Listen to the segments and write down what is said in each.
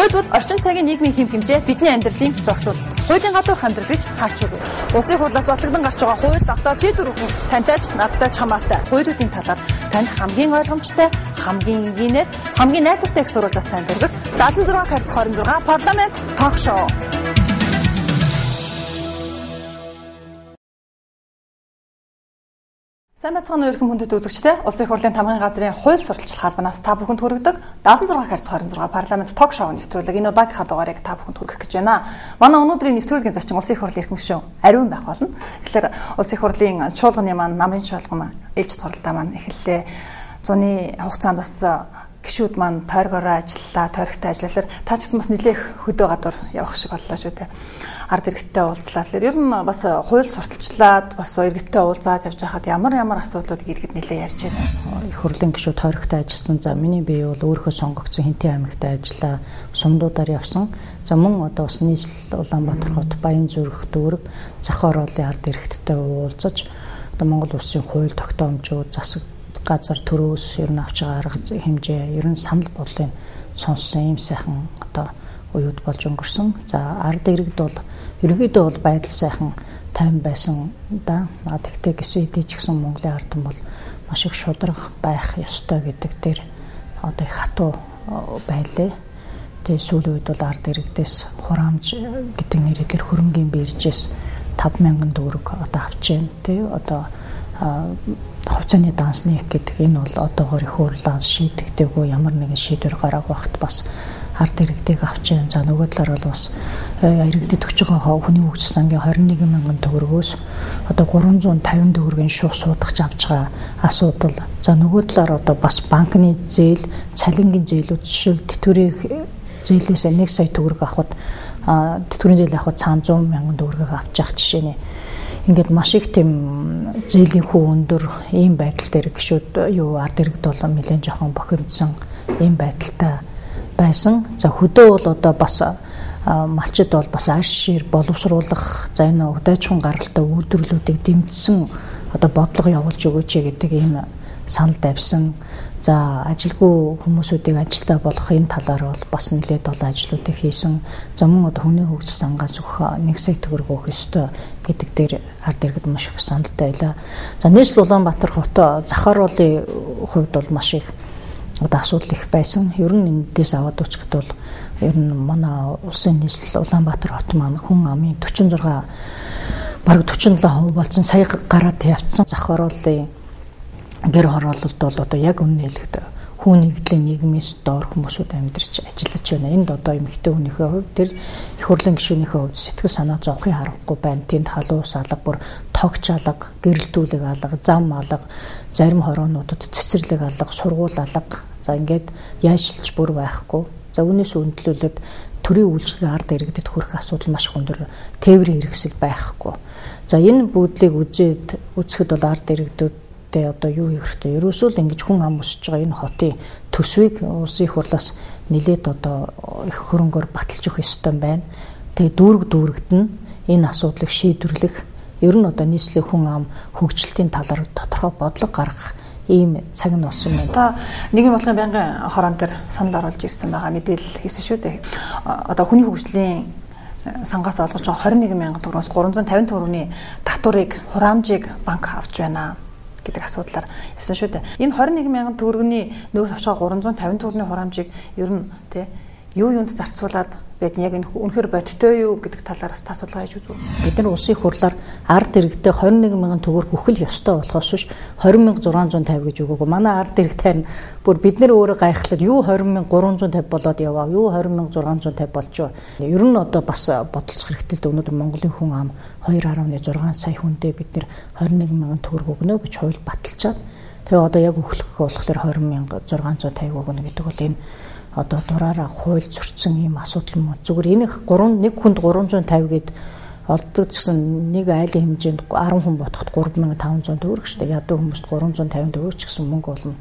Хууль бол орчин цагийн нийгмийн хэм хэмжээ бидний амьдралын зохицуулалт. Хуулийн гадуур амьдрал гэж харж үгүй. Улсын хурлаас батлагдсан гарч байгаа хууль давтаа шийдвэр өгөх тантай ч надтай ч хамаатай. Хуулиудын талаар танд хамгийн ойлгомжтой, хамгийн энгийнээр, хамгийн найдвартай их сурвалжаас танд өргөх 76-26 парламент ток шоу. Сайн бацхан өрхөн хүндэт үзэгчтэй Улсын хурлын тамгын газрын хууль сурталчлах албанаас та бүхэнд хүргэдэг 76-26 парламент ток шоу нэвтрүүлэг энэ удаагийнхаа дугаарыг та бүхэнд хүргэх гэж байна. Манай өнөөдрийн нэвтрүүлгийн зочин Улсын хурлын эрхэм гишүүн Ариун байх болно. Тэгэхээр Улсын хурлын чуулганы маань намрын чуулган ээлж туралдаа маань эхэллээ. Зуны хугацаанд бас гишүүд маань тойргороо ажиллаа, тойрогтой ажиллалаар та ч гэсэн бас нэлээх хөдөө гадуур явах шиг боллоо шүү дээ. Ард иргэдтэй уулзлаа. Тэгэхээр ер нь бас хууль сурталчлаад бас иргэдтэй уулзаад явж байхад ямар асуудлуудыг иргэд нэлээ ярьж байна. Их хурлын гишүүд тойрогтой ажилласан. За миний бие бол өөрийнхөө сонгогдсон Хинтэн аймагт ажиллаа. Сумдуудаар явсан. За мөн одоо бас нийслэл Улаанбаатар хот, Баянзүрх, Дүүрэг, зах ороолын ард иргэдтэй уулзаж одоо Монгол улсын хууль тогтоомжууд, засаг газар төрөөс ер нь авч байгаа арга хэмжээ, ер нь санал бодлыг сонссон ийм сайхан одоо уюуд болж өнгөрсөн. За ард иргэд бол ерөнхийдөө бол байдал сайхан тайван байсан да. Тэгтээ гэсэн хэдий ч гэсэн Монголын ард бол маш их шударга байх ёстой гэдэг дээр одоо их хатуу байлээ. Тэгээ сүүлийн үед бол ард иргэдээс хураамж гэдэг нэрээр хөрөнгөний биржээс 5,000 төгрөг одоо авч байна. Тэ одоо хувьцааны дансны гэдэг энэ бол одоогоор их хурлаас шийдэгдээгүй ямар нэгэн шийдвэр гаргаах багт бас ард иргэдийг авч байна. За нөгөө талаар бол бас иргэдэд өгч байгаа хүний хөгжил сангийн 21,000 төгрөгөөс одоо 350 төгрөгийн шууд суудагч авч байгаа асуудал. За нөгөө талаар одоо бас банкны зээл, цалингийн зээлүүд жишээл тэтгэврийн зээлээс 1 сая төгрөг авахд тэтгэврийн зээл авахд 100,000 төгрөгөг авч явах жишээ нэ. Ингээд маш их тийм зээлийн хүү өндөр ийм байдал дээр гişүүд ард иргэд бол нэлээд жоохон бохимдсон ийм байдалтай байсан. За хөдөө бол одоо бас малчид бол бас арьс шир боловсруулах, за энэ удаачхан гаралтай үйлдвэрлэлүүдийг дэмжсэн одоо бодлого явуулж өгөөч гэдэг ийм санал тавьсан. За ажилгүй хүмүүсүүдийг ажилдаа болгох энэ талаар бол бас нэлээд олон ажлуудыг хийсэн. За мөн одоо хүний хөгжил сангаас өгөх 1 сая төгрөг өгөх ёстой гэдэг дээр ард иргэд маш их саналтай байлаа. За нийслэл Улаанбаатар хот зах ороолын хувьд бол маш их одоо асуудал их байсан. Ер нь эндээс аваад үзэхэд бол ер нь манай улсын нийслэл Улаанбаатар хот маань хүн амын 46 бараг 47% болсон. Сая гараад явцсан зах ороолын гэр хороололд бол одоо яг өмнө хэлэхэд хүн нэгдлийн нийгмээс доор хүмүүсүүд амьдарч ажиллаж байна. Энд одоо эмэгтэй хүнийхээ хувьд тэр их хурлын гишүүнийхээ хувьд сэтгэл санаа зовхын харахгүй байна. Тэнд халуус алга, бүр тогч алга, гэрэлтүүлэг алга, зам алга, зарим хороонуудад цэцэрлэг алга, сургууль алга. За ингээд яашилж бүр байхгүй. За үүнээс үндэслүүлээд төрийн үйлчлэгээ ард иргэдэд хүрэх асуудал маш их өндөр, тээврийн хэрэгсэл байхгүй. За энэ бүгдлийг үзэхэд бол ард иргэдүүд одоо юу хийх хэрэгтэй. Ерөөсөө л ингэж хүн ам өсөж байгаа энэ хотын төсвийг улсын их хурлаас нэлээд одоо их хөрөнгөөр баталж өгөх ёстой байна. Тэгээ дүүрэгт нь энэ асуудлыг шийдвэрлэх, ер нь одоо нийслэлийн хүн ам хөгжилтийн талаар тодорхой бодлого гаргах ийм цаг нь болсон байна. Та нийгмийн бодлогын байнгын хороон дээр санал оруулж ирсэн байгаа мэдээлэл хийсэн шүү дээ. Одоо хүний хөгжлийн сангаас олгож байгаа 21,000 төгрөгөөс 350 төгрөгийн татварыг, хураамжийг банк авч байна гэдэг асуудлаар ярьсан шүү дээ. Энэ 21,000 төгрөгийн нөгөө тавчгаа 350 төгрөгийн хураамжийг ер нь тий юу юунд зарцуулаад байд яг энэ үнэхээр бодтой юу гэдэг талаар бас асуудал хийж үзв. Бид нар улсын хурлаар ард иргэдэд 21,000 төгрөг өгөх ёстой болохоос биш 20,650 гэж өгөөгүй. Манай ард иргэдээр бүр бид нар өөрөө гайхлаад юу 20,350 болоод яваа, юу 20,650 болж байгаа. Ер нь одоо бас бодолцох хэрэгтэй л өнөөдөр Монголын хүн ам 2.6 сая хүндээ бид нар 21,000 төгрөг өгнө гэж хууль баталчаад тэгээ одоо яг өглөх болохоор 20,650 өгнө гэдэг бол энэ одоо дураараа хууль зөрчсөн ийм асуудал юм. Зүгээр энэ нэг хүнд 350 гээд олддог гэсэн нэг айлын хэмжээнд 10 хүн ботход 3,500 төгрөг шүү дээ. Ядуу хүмүүст 350 төгрөг ч гэсэн мөнгө болно.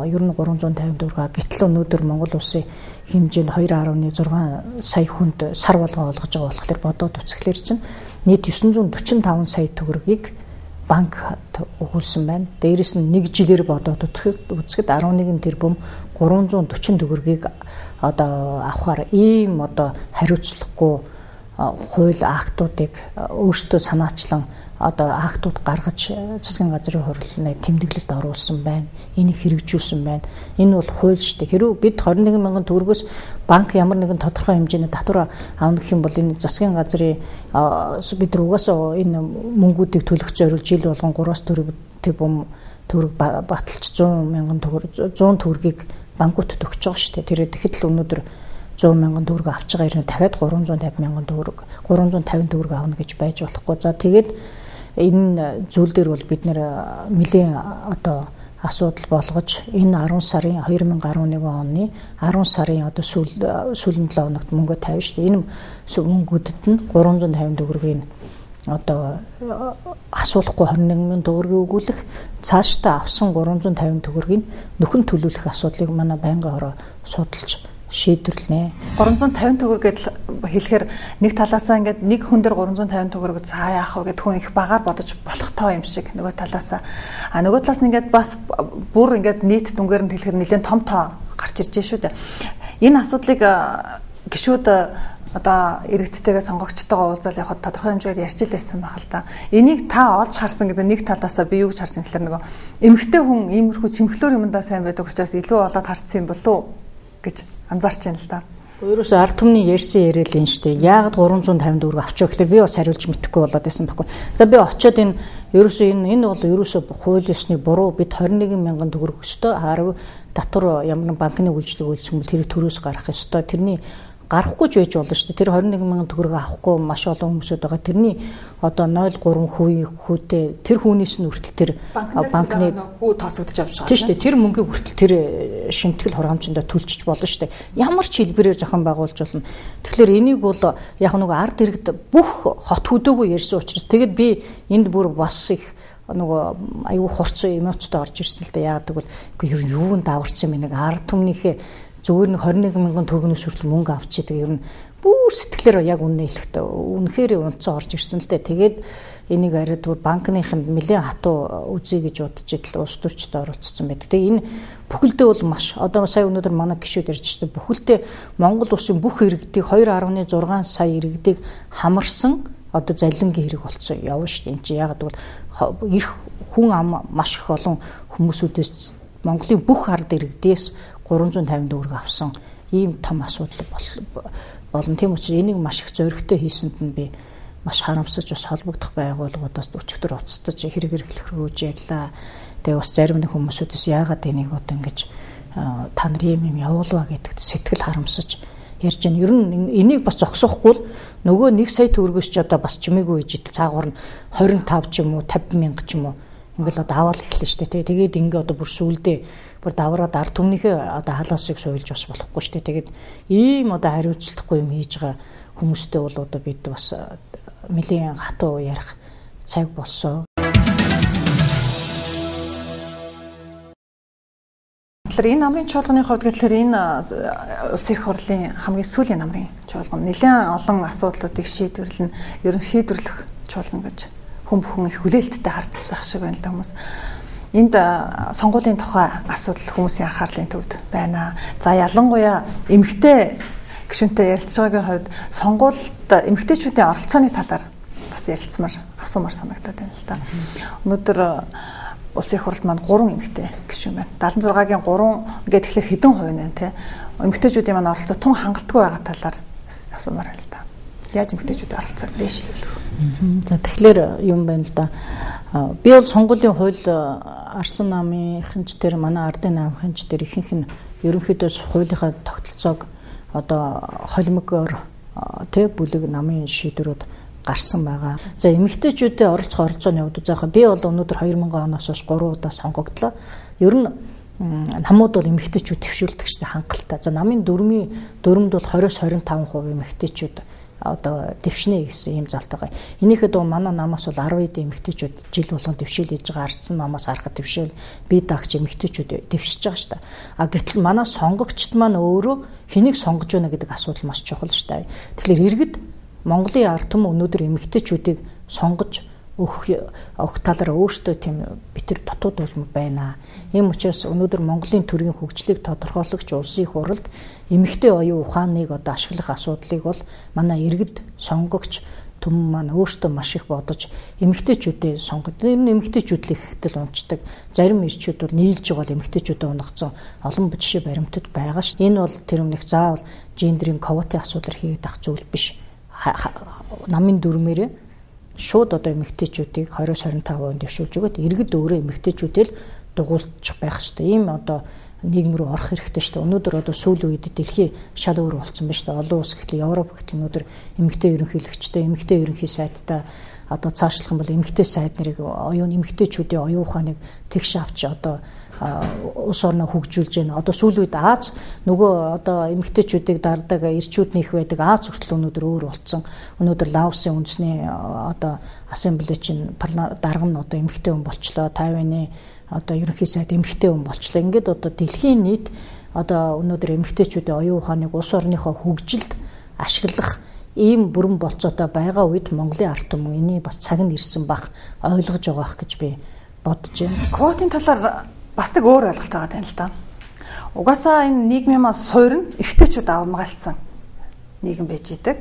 Ер нь 350 төгрөг. Гэтэл өнөөдөр Монгол улсын хэмжээнд 2.6 сая хүнд сар болгоо олгож байгаа болохоор бодоод үзэхлээр чинь нийт 945 сая төгрөгийг банк өгүүлсэн байна. Дээрээс нь 1 жилээр бодоод үзэхэд 11 тэрбум 340 төгрөгийг одоо авахар ийм одоо хариуцлагагүй хууль актуудыг өөрсдөө санаачлан одоо актууд гаргаж засгийн газрын хурлын тэмдэглэлд оруулсан байна. Энийг хэрэгжүүлсэн байна. Энэ бол хууль шүү дээ. Хэрвээ бид 21 мянган төгрөгөөс банк ямар нэгэн тодорхой хэмжээний татвар авах гэх юм бол энэ засгийн газрын бид угаасаа энэ мөнгүүдийг төлөх зорилго жил болгон 3-аас 4 төгрөг баталж 100 мянган төгрөг 100 төгрөгийг банкуудад өгч байгаа шүү дээ. Тэр тэгэхэд л өнөөдөр 100 мянган төгрөг авч байгаа юм дахиад 350 мянган төгрөг 350 төгрөг авна гэж байж болохгүй. За тэгээд энэ зүйл дээр бол бид нэлийн одоо асуудал болгож энэ 10 сарын 2011 оны 10 сарын одоо сүүлийн 7 хоногт мөнгө тавьж шүү дээ. Энэ мөнгүүдэд нь 350 төгрөгийн одоо асуулахгүй 21 мянган төгрөгийг өгүүлэх, цаашдаа авсан 350 төгрөгийг нөхөн төлөвлөх асуудлыг манай байнгын хороо судалж шийдвэрлэнэ. 350 төгрөг гэдэл хэлэхээр нэг талаасаа ингээд нэг хүн дээр 350 төгрөг цаа яах вэ гэд хүн их багаар бодож болох тоо юм шиг нөгөө талаасаа. Нөгөө талаас нь ингээд бас бүр ингээд нийт дүнгээр нь хэлэхээр нэлээд том тоо гарч ирж шүү дээ. Энэ асуудлыг гишүүд одоо иргэдтэйгээ сонгогчтойгоо уулзаад явахад тодорхой хэмжээгээр ярьж лээсэн байх л да. Энийг та олж харсан гэдэг нэг талаасаа би юу гэж харсан гэхээр нөгөө эмэгтэй хүн иймэрхүү чимхлээр юмдаа сайн байдаг учраас илүү олоод харцсан юм болов уу гэж анзаарч байна л да. Өөрөөсөө ард түмний ярьсан яриад энэ штэ. Яагаад 350 төгрөг авчих вэ гэхээр би бас хариулж мэдэхгүй болоод байсан байхгүй. За би очиод ерөөсөө энэ бол ерөөсөө хууль ёсны буруу. Бид 21 мянган төгрөг өстой 10 татвар ямар банкны үйлчлэг үйлсэх юм бол тэрийг төрөөс гаргах ёстой. Тэрний гарахгүй ч байж болно шүү дээ. Тэр 21 мянган төгрөг авахгүй маш олон хүмүүсүүд байгаа. Тэрний одоо 0.3% хүүтэй тэр хүнээс нь хүртэл тэр банкны хүү тооцогдож авч байгаа. Тийм шүү дээ. Тэр мөнгийг хүртэл тэр шимтгэл хураамжиндаа төлчих болно шүү дээ. Ямар ч хэлбэрээр зохион байгуулж болно. Тэгэхээр энийг бол яг нэг ард иргэд бүх хот хөдөөгөө ярьсан учраас тэгэд би энд бүр бас их нөгөө аюу хурцсан эмоцтой орж ирсэн л дээ. Яагаад гэвэл юунд даварцсан юм нэг ард түмнийхээ зүгээр нэг 21 мянган төгрөгнөөс хүртэл мөнгө авчидаг ер нь бүр сэтгэлээр яг үнэ хэлэхдээ үнэхээр унцсан орж ирсэн л дээ. Тэгээд энийг арайд бүр банкныханд нэлээд хатуу үзье гэж бодож идэл улс төрчид оролцсон байдаг. Тэгээ энэ бүхэлдээ бол маш одоо сая өнөөдөр манай гишүүд ярьж байгаа бүхэлдээ Монгол улсын бүх иргэдийг 2.6 сая иргэдийг хамарсан одоо залингийн хэрэг болцсон явна шүү дээ. Энд чи ягаад гэвэл их хүн ам маш их олон хүмүүсүүдээс Монголын бүх ард иргэдээс 350 төгрөг авсан ийм том асуудал болно. Тийм учраас энийг маш их зоригтой хийсэнд нь би маш харамсаж бас холбогдох байгууллагуудаас өчигдөр уцтаж хэрэг хэрэглэх рүү ярьлаа. Тэгээ бас зарим нэг хүмүүсүүдээс яагаад энийг одоо ингэж та нар юм явуулваа гэдэгт сэтгэл харамсаж ярьж байна. Ер нь энийг бас зогсоохгүй л нөгөө 1 сая төгрөгөөс ч одоо бас чимээгүй үеж идэл цаагуур нь 25 ч юм уу 50 мянга ч юм уу ингээл одоо аваад эхэлнэ шүү дээ. Тэгээд ингээ одоо бүр сүулдэ бүр давраад ард түмнийхээ одоо халаасыг суйлж бас болохгүй шүү дээ. Тэгээд ийм одоо хариуцлагагүй юм хийж байгаа хүмүүстэй бол одоо бид бас нэлийн хатуу ярих цаг болсон. Тэгэхээр энэ намрын чуулганы хувьд гэхэлэр энэ улсын их хурлын хамгийн сүүлийн намрын чуулган нэлээд олон асуудлуудыг шийдвэрлэн ер нь шийдвэрлэх чуулган гэж хүн бүхэн их хүлээлттэй харж байх шиг байна л да хүмүүс. Энд сонгуулийн тухай асуудал хүмүүсийн анхаарлын төвд байна. За ялангуяа эмэгтэй гишүүнтэй ярилцлагын хувьд сонгуульд эмэгтэйчүүдийн оролцооны талаар бас ярилцмаар асуумаар санагдаад байна л да. Өнөөдөр улсын их хурлд маань 3 эмэгтэй гишүүн байна. 76-гийн 3 гэдэг тэгэхээр хэдэн хувь нэ те. Эмэгтэйчүүдийн маань оролцоо тун хангалтгүй байгаа талаар асуумаар байна л да. Яаж эмэгтэйчүүдийн оролцоог дээшлүүлэх вэ? За тэгэхээр юм байна л да. Би бол сонгуулийн хууль ардсан намынхэнч дээр манай ардын намынхэнч дээр ихэнх нь ерөнхийдөө хуулийнхаа тогтолцоог одоо холимогоор тэг бүлэг намын шийдвэрүүд гарсан байгаа. За эмэгтэйчүүдийн оролцох оролцооны хувьд заахаа би бол өнөөдөр 2000 оноос хойш 3 удаа сонгогдлоо. Ер нь намууд бол эмэгтэйчүүд төвшүүлдэг шүү дээ хангалттай. За намын дөрмд бол 20-25% эмэгтэйчүүд одоо дэвшнэ гэсэн юм залтайгаа. Энийхэд манай намаас бол 10 эд эмэгтэйчүүд жил болгон дэвшил хийж байгаа. Ардсан намаас харахад дэвшил би дагч эмэгтэйчүүд дэвшиж байгаа шүү дээ. А гэтэл манай сонгогчд маань өөрөө хэнийг сонгож байна гэдэг асуудал маш чухал шүү дээ. Тэгэхээр иргэд Монголын ард түмэн өнөөдөр эмэгтэйчүүдийг сонгож өгөх талаар өөртөө тийм битэр дотоод улмаг байна. Ийм учраас өнөөдөр Монголын төрийн хөгжлийг тодорхойлогч улсын их хурлд эмэгтэй оюун ухааныг одоо ашиглах асуудлыг бол манай иргэд сонгогч түмэн маань өөртөө маш их бодож эмэгтэйчүүдээ сонгоод эмэгтэйчүүд л ихтэл унцдаг. Зарим ирчүүд бол нийлж байгаа бол эмэгтэйчүүдэд унгацсан олон жишээ баримтад байгаа ш. Энэ бол тэр өмнөх заавал гендерийн квотын асуудал хийгээд ах зүйл биш. Намын дүрмээрээ шууд одоо эмэгтэйчүүдийг 20-25% дэвшүүлж өгöd иргэд өөрөө эмэгтэйчүүдээ л дугуйлчих байх хэрэгтэй. Ийм одоо нийгэм рүү орох хэрэгтэй шүү дээ. Өнөөдөр одоо сүүлийн үед дэлхий шал өөр болсон байна шүү дээ. Олон улс гэхэл Европ гэхэл өнөөдөр эмэгтэй ерөнхийлөгчтэй, эмэгтэй ерөнхий сайдтай одоо цаашлах юм бол эмэгтэй сайд нарыг оюун эмэгтэйчүүдийн оюун ухааныг тэгш авч одоо улс орноо хөгжүүлж байна. Одоо сүүлийн үед Аз нөгөө одоо эмэгтэйчүүдийг дардаг ирчүүд нэх байдаг Аз хүртэл өнөөдөр өөр болсон. Өнөөдөр Лаосын үндэсний одоо ассамбле чинь дарга нь одоо эмэгтэй хүн болчлоо. Тайваны одоо ерөнхий сайд эмэгтэй хүн болчлоо. Ингээд одоо дэлхийн нийт одоо өнөөдөр эмэгтэйчүүдийн оюун ухааныг улс орныхоо хөгжилд ашиглах ийм бүрэн болцоотой байгаа үед Монголын ард түмэн энийг бас цаг нь ирсэн бах ойлгож байгаа ах гэж би бодож байна. Квотын талаар бас нэг өөр ойлголт байгаа тань л да. Угаасаа энэ нийгмийн маань суурь нь эрэгтэйчүүд авмгаалсан нийгэм байж идэг.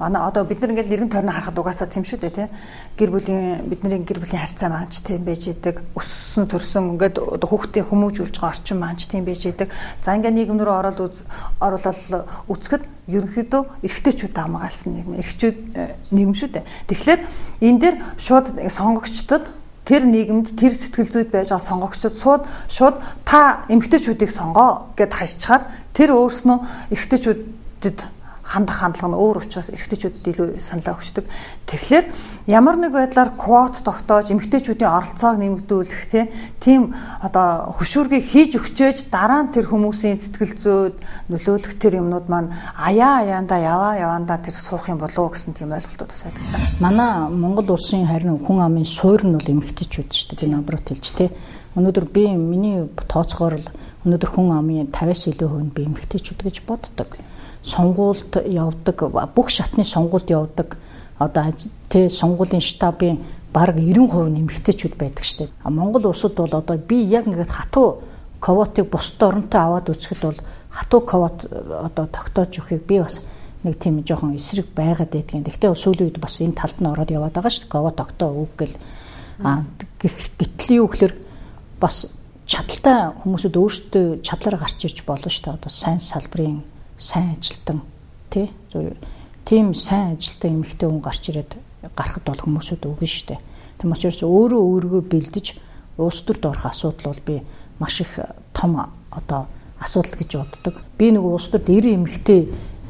Манай одоо бид нар ингээл эргэн тойрноо харахад угаасаа тийм шүү дээ тий. Бидний гэр бүлийн харьцаа маанч тийм байж идэг. Өссөн төрсөн ингээд одоо хүүхдээ хүмүүжүүлж байгаа орчин маанч тийм байж идэг. За ингээд нийгэм рүү оруулаад үзэхэд ерөнхийдөө эрэгтэйчүүд авмгаалсан нийгэм. Эрэгчүүд нийгэм шүү дээ. Тэгэхээр энэ дээр шууд сонгогчдод тэр нийгэмд тэр сэтгэл зүйд байж байгаа сонгогчдод шууд та эмэгтэйчүүдийг сонгоо гэд хайчаар тэр өөрснөө эрэгтэйчүүдэд хандах хандлага нь өөр учраас эрэгтэйчүүдэд илүү саналаа өгчдөг. Тэгэхээр ямар нэг байдлаар квот тогтоож эмэгтэйчүүдийн оролцоог нэмэгдүүлэх тийм одоо хөшүүргийг хийж өгчээж дараа нь тэр хүмүүсийн сэтгэл зүйд нөлөөлөх тэр юмнууд маань аяанда яваандаа тэр суух юм болов уу гэсэн тийм ойлголтууд бас байдаг л да. Манай Монгол улсын харин хүн амын суурь нь бол эмэгтэйчүүд шүү дээ. Би намбарт хэлж тий. Өнөөдөр миний тооцоогоор л өнөөдөр хүн амын 50-аас илүү хувь нь би эмэгтэйчүүд гэж боддог. Сонгуульд явдаг, бүх шатны сонгуульд явдаг одоо тэ сонгуулийн штабын бараг 90% нэмэгтэйчүүд байдаг шүү дээ. Монгол улсад бол одоо би яг ингээд хатуу квотыг бусад оронтой аваад үзэхэд бол хатуу квот одоо тогтоож өгөхийг би бас нэг тийм жоохон эсрэг байгаад байдгийн. Гэхдээ сүүлийн үед бас энэ талд нь ороод яваад байгаа шүү дээ. Квот тогтоо үг гэл. Гэтэл юу гэхээр бас чадaltaй хүмүүсүүд өөрсдөө чадлаараа гарч ирж болно шүү дээ. Одоо сайн салбарын сайн ажилтан тийм сайн ажилтан эмэгтэй хүн гарч ирээд гарахд бол хүмүүсүүд үгүй шүү дээ. Тэм учраас өөрийгөө бэлдэж улс төрд орох асуудал бол би маш их том одоо асуудал гэж боддог. Би нөгөө улс төрд 90 эмэгтэй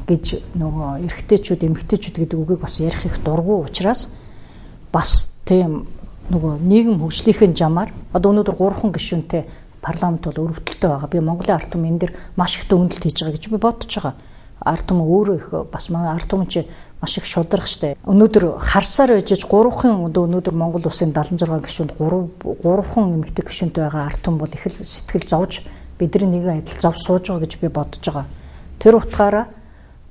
гэж нөгөө эрэгтэйчүүд эмэгтэйчүүд гэдэг үгийг бас ярих их дургу учраас бас тийм нөгөө нийгэм хөгжлийнхээ замаар одоо өнөөдөр 3 гишүүнтэй парламент бол өрөвдөлтөй байгаа. Би Монголын ард түмэн энэ дэр маш их дүгнэлт хийж байгаа гэж би бодож байгаа. Ард түмэн өөрөө их бас манай ард түмэн чи маш их шударга штэ. Өнөөдөр харсаар байжж 3 өнөөдөр Монгол улсын 76 гишүүнд 3 эмэгтэй гишүүнтэй байгаа ард түмэн бол их л сэтгэл зовж бидний нэгэн адил зов сууж байгаа гэж би бодож байгаа. Тэр утгаараа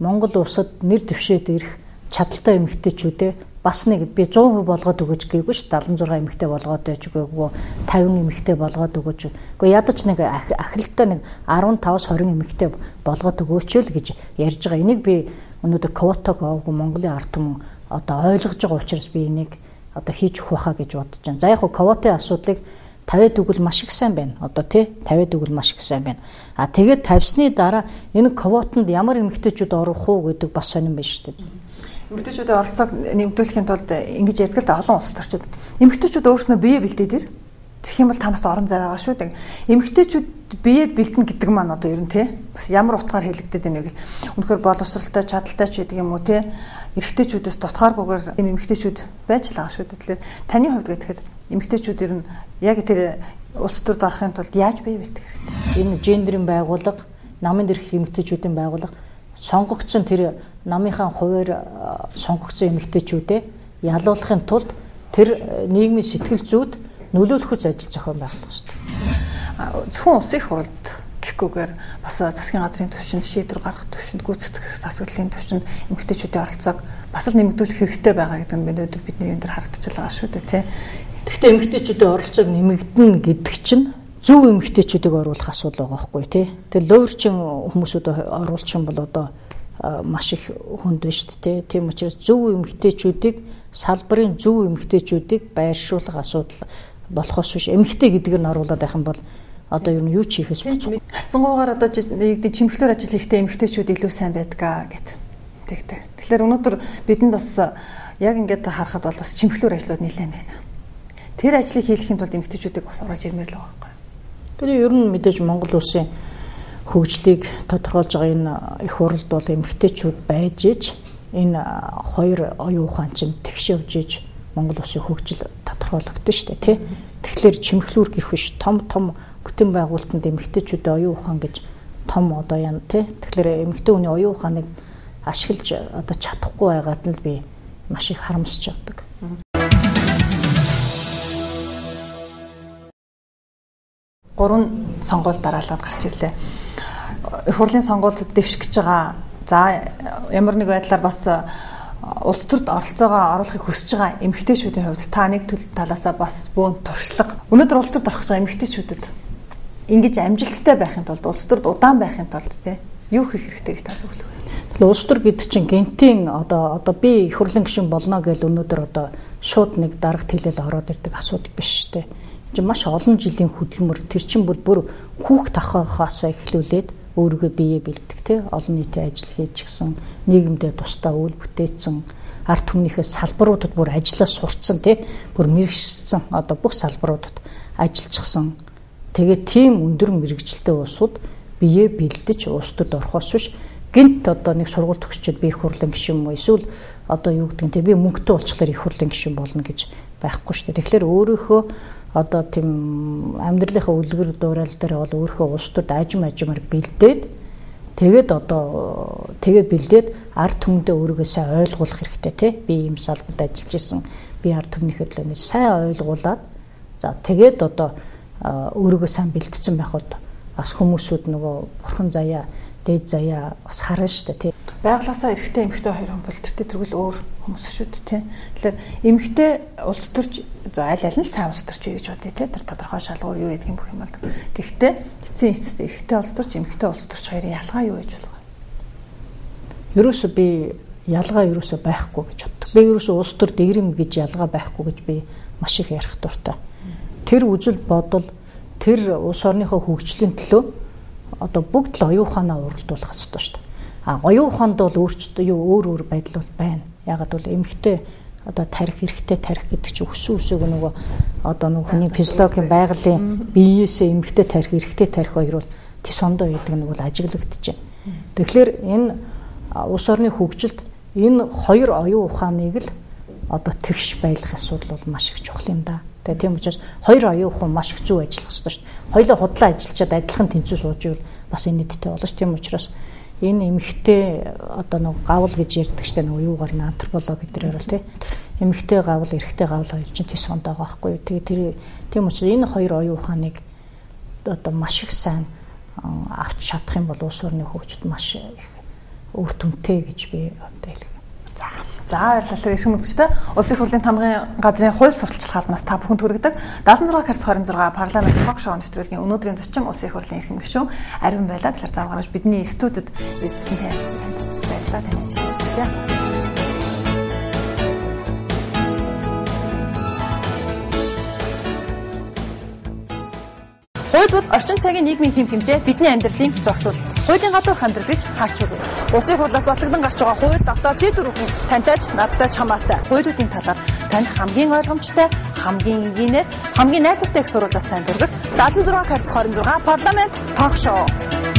Монгол улсад нэр дэвшээд ирэх чадaltaй эмэгтэйчүүдээ бас нэг би 100% болгоод өгөөж гээгүй ш 76 эмэгтэй болгоод байж өгөөгүй 50 эмэгтэй болгоод өгөөж. Гэхдээ ядаж нэг ахралтай нэг 15-20 эмэгтэй болгоод өгөөч л гэж ярьж байгаа. Энийг би өнөөдөр квотог аваагүй Монголын ард түмэн одоо ойлгож байгаа учраас би энийг одоо хийж өгөх байхаа гэж бодож байна. За яг квотын асуудлыг тавиад өгвөл маш их сайн байна. Одоо тавиад өгвөл маш их сайн байна. Тэгээд тавьсны дараа энэ квотонд ямар эмэгтэйчүүд орох уу гэдэг бас сонирн байна шүү дээ. Эмэгтэйчүүдийн оролцоог нэмэгдүүлэхийн тулд ингэж ярьдаг л олон улс төрчид эмэгтэйчүүд өөрснөө бие бэлдээд ир. Тэгэх юм бол танарт орон зай байгаа шүү дээ. Эмэгтэйчүүд бие бэлдэн гэдэг маань одоо ер нь бас ямар утгаар хэлэгдэдэг нэг л үнэхээр боловсралтай чадaltaй ч гэдэг юм уу эрэгтэйчүүдээс дутгааргүйгээр эмэгтэйчүүд байж л байгаа шүү дээ. Тэгэхээр таны хувьд гэхэд эмэгтэйчүүд ер нь яг тэр улс төрд орохын тулд яаж бие бэлдэх хэрэгтэй? Энэ гендерийн байгууллага, намын дээрх эмэгтэйчүүдийн байгууллага сонгогдсон тэр намынхаа хуваар сонгогдсон эмэгтэйчүүдээ ялуулахын тулд тэр нийгмийн сэтгэл зүйд нөлөөлөх үз ажил зохион байгуулах хэрэгтэй. Зөвхөн улсын их хурлд гэх ихгүйгээр бас засгийн газрын түвшинд шийдвэр гаргах түвшинд гүйцэтгэх засаглалын түвшинд эмэгтэйчүүдийн оролцоог бас л нэмэгдүүлэх хэрэгтэй байгаа гэдэг нь өнөөдөр бидний энэ төр харагдаж байгаа шүү дээ тий. Гэхдээ эмэгтэйчүүдийн оролцоог нэмэгдэнэ гэдэг чинь зөв эмэгтэйчүүдийг оруулах асуудал байгаа байхгүй тий. Тэгээ луурчин хүмүүсүүд оруулчин бол одоо маш их хүнд байна шүү дээ. Тийм учраас зөв эмэгтэйчүүдийг салбарын зөв эмэгтэйчүүдийг байршуулах асуудал болохоос биш эмэгтэй гэдгийг нь оруулаад байх юм бол одоо юу ч хийхээс болцоо. Харцангуйгаар одоо нэгдээ чимхлэр ажил хийхдээ эмэгтэйчүүд илүү сайн байдгаа гэд. Тэгэхээр өнөөдөр бидэнд бас яг ингээд харахад бол бас чимхлэр ажлууд нэлээд байна. Тэр ажлыг хийхин тулд эмэгтэйчүүдийг бас орж ирмээр л байгаа байхгүй. Тэр ер нь мэдээж Монгол улсын хөгжлийг тодорхойлж байгаа энэ их хурлд бол эмэгтэйчүүд байж иж энэ хоёр оюун ухаан чинь тэгш явж иж Монгол улсын хөгжил тодорхойлогдсон шүү дээ тий. Тэгэхээр чимхлүүр гэх биш том бүтээн байгуулалтанд эмэгтэйчүүдийн оюун ухаан гэж том одоо яа тий. Тэгэхээр эмэгтэй хүний оюун ухааныг ашиглаж одоо чадахгүй байгаад л би маш их харамсч явдаг. Гурван сонгуульд дараалаад гарч ирлээ. Их хурлын сонгуульд дэвшгэж байгаа. За ямар нэг байдлаар бас улс төрд оролцоогоо оруулахыг хүсэж байгаа эмэгтэйчүүдийн хувьд та нэг талаасаа бас бөөн туршлага. Өнөөдөр улс төрд орох гэж байгаа эмэгтэйчүүдэд ингэж амжилттай байхын тулд улс төрд удаан байхын тулд тий юу хийх хэрэгтэй гэж та зөвлөв? Тэгэхээр улс төр гэдэг чинь гентийн одоо би их хурлын гишүүн болно гэж өнөөдөр одоо шууд нэг дарга хэлэл ороод ирдэг асуудал биш шүү дээ. Чи маш олон жилийн хөдөлмөр тэр чинь бүр хүүхд тахахаасаа эхлүүлээд өөрийгөө бие бэлдэх тий олон нийтийн ажил хийж гисэн нийгэмдээ тусдаа үйл бүтээсэн ард түмнийхээ салбаруудад бүр ажиллаа сурцсан тий бүр мэрэгчсэн одоо бүх салбаруудад ажиллажсэн тэгээд тийм өндөр мэрэгчлээ улсууд бие бэлдэж улс төрд орохоос биш гинт одоо нэг сургууль төгсчөөд би их хурлын гишүүн юм эсвэл одоо юу гэдэг нь тий би мөнгөтэй болчихлоор их хурлын гишүүн болно гэж байхгүй шүү дээ. Тэгэхээр өөрийнхөө одоо тийм амьдралынхаа үлгэр дуурал дээр бол өөрийнхөө улс төрд ажимаар бэлдээд тэгээд бэлдээд ард түмэндээ өөрийгөө сайн ойлгуулах хэрэгтэй тий би ийм салбарт ажиллаж исэн би ард түмнийхээ төлөө сайн ойлгуулад за тэгээд одоо өөрийгөө сайн бэлдсэн байхад бас хүмүүсүүд нөгөө бурхан заяа дээд заяа бас харна шүү дээ тий байглаасаа эрэгтэй эмэгтэй хоёр хүн бол тэртээ тэргүүл өөр хүмүүс шүү дээ тий. Тэгэхээр эмэгтэй улс төрч аль нь сайн улс төрч вэ гэж бодъё тий. Тэр тодорхой шалгуур юу гэдэг юм бүх юм бол. Тэгэхдээ эцсийн эцэст эрэгтэй улс төрч эмэгтэй улс төрч хоёрын ялгаа юу гэж болох вэ? Ерөөсөө би ялгаа ерөөсөө байхгүй гэж боддог. Би ерөөсөө улс төр дэгрэм гэж ялгаа байхгүй гэж би маш их ярих дуртай. Тэр үзэл бодол тэр улс орныхоо хөгжлийн төлөө одоо бүгд л оюун ухаанаа уралдуулах хэрэгтэй шүү дээ. Оюун ухаанд бол өөрчлөлт өөр байдал бол байна. Ягаад бол эмэгтэй одоо тарих эрэгтэй тарих гэдэг чинь өссөн үсэг нөгөө одоо нөгөө хүний физиологийн байгалийн биеэсээ эмэгтэй тарих эрэгтэй тарих хоёр бол тисондоо гэдэг нь бол ажиглагдаж байна. Тэгэхээр энэ улс орны хөгжилд энэ хоёр оюун ухааныг л одоо тэгш байлгах асуудал бол маш их чухал юм да. Тэгээ тийм учраас хоёр оюун ухаан маш их зөв ажиллах хэрэгтэй шүү дээ. Хоёулаа худлаа ажиллачаад адилхан тэнцүү сууж ивэл бас энэ нийттэй болно шүү. Тийм учраас энэ эмэгтэй одоо нэг гавл гэж ярьдаг штэ нэг юугаар н антропологи гэдэг ярил тий. Эмэгтэй гавл, эрэгтэй гавл хоёр чинь тис хондоо байхгүй. Тэгээ тэр тийм учраас энэ хоёр оюун ухааныг одоо маш их сайн авч чадах юм бол улс орны хөгжид маш их үр дүнтэй гэж би одоо хэлэх. За баярлалаа ирэх үзэгчтэй. Улсын хурлын тамгын газрын хууль сурталчилах албанаас та бүхэнд хүргэдэг 76 карц 26 парламент ток шоу нэвтрүүлгийн өнөөдрийн зочин улсын хурлын эрхэм гишүүн Ариун байлаа. Тэгэхээр зав гаргаж бидний студид ирсэн тань баярлалаа тань ажиллаж байна. Хууль бол орчин цагийн нийгмийн хэм хэмжээ бидний амьдралын зохицуул. Хуулийн гадуур амьдрал гэж хаач үгүй. Улсын хурлаас батлагдсан гарч байгаа хууль давтаа шийдвэр өгөх тантай ч надтай ч хамаатай. Хуулиудын талаар танд хамгийн ойлгомжтой, хамгийн энгийнээр, хамгийн найдвартай их сурвалжаас танд хүргэх 76 карц 26 парламент ток шоу.